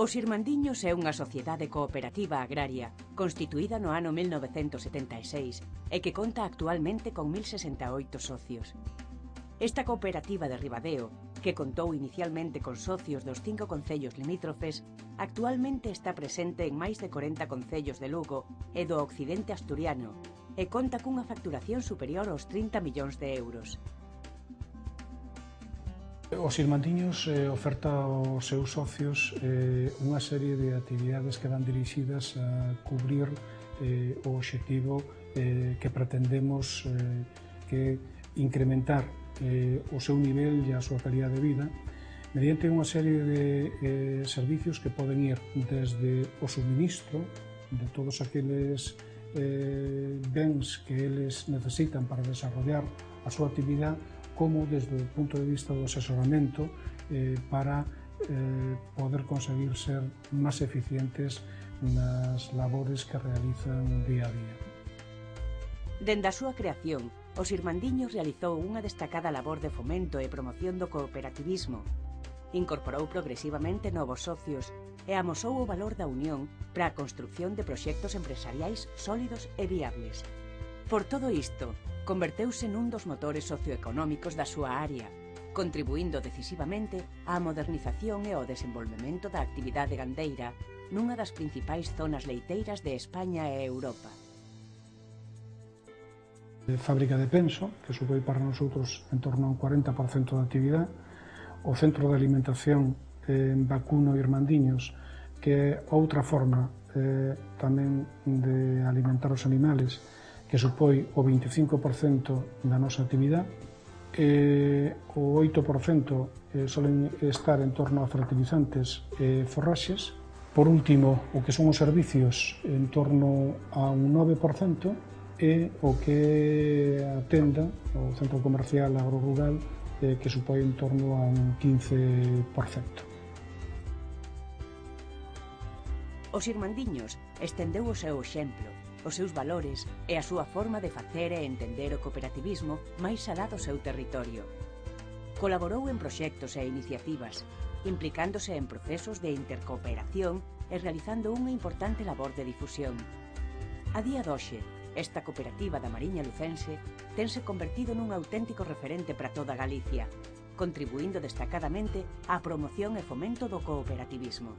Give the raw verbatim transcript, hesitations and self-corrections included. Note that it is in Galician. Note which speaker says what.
Speaker 1: Os Irmandiños é unha sociedade cooperativa agraria constituída no ano mil novecentos setenta e seis e que conta actualmente con mil sesenta e oito socios. Esta cooperativa de Ribadeo, que contou inicialmente con socios dos cinco concellos limítrofes, actualmente está presente en máis de corenta concellos de Lugo e do occidente asturiano e conta cunha facturación superior aos trinta millóns de euros.
Speaker 2: Os Irmandiños eh, oferta aos seus socios eh, unha serie de actividades que van dirixidas a cubrir eh, o obxectivo eh, que pretendemos eh, que incrementar eh, o seu nivel e a súa calidad de vida mediante unha serie de eh, servicios que poden ir desde o suministro de todos aqueles eh, bens que eles necesitan para desarrollar a súa actividade, como desde o punto de vista do asesoramento eh, para eh, poder conseguir ser máis eficientes nas labores que realizan día a día.
Speaker 1: Dende a súa creación, os Irmandiños realizou unha destacada labor de fomento e promoción do cooperativismo. Incorporou progresivamente novos socios e amosou o valor da unión para a construción de proxectos empresariais sólidos e viables. Por todo isto, converteuse nun dos motores socioeconómicos da súa área, contribuindo decisivamente á modernización e ao desenvolvemento da actividade gandeira nunha das principais zonas leiteiras de España e Europa.
Speaker 2: Fábrica de penso, que supón para nosotros en torno a un cuarenta por cento da actividade, o centro de alimentación en Vacuno Irmandiños, que é outra forma eh, tamén de alimentar os animales, que supón o veinticinco por cento da nosa actividade, e o oito por cento eh, solen estar en torno a fertilizantes e forraxes. Por último, o que son os servicios en torno a un nove por cento e o que a tenda, o centro comercial agrorural, eh, que supón en torno a un quince por cento.
Speaker 1: Os Irmandiños estendeu o seu exemplo, os seus valores e a súa forma de facer e entender o cooperativismo máis alá do seu territorio. Colaborou en proxectos e iniciativas, implicándose en procesos de intercooperación e realizando unha importante labor de difusión. A día doxe, esta cooperativa da Mariña Lucense tense convertido nun auténtico referente para toda Galicia, contribuindo destacadamente á promoción e fomento do cooperativismo.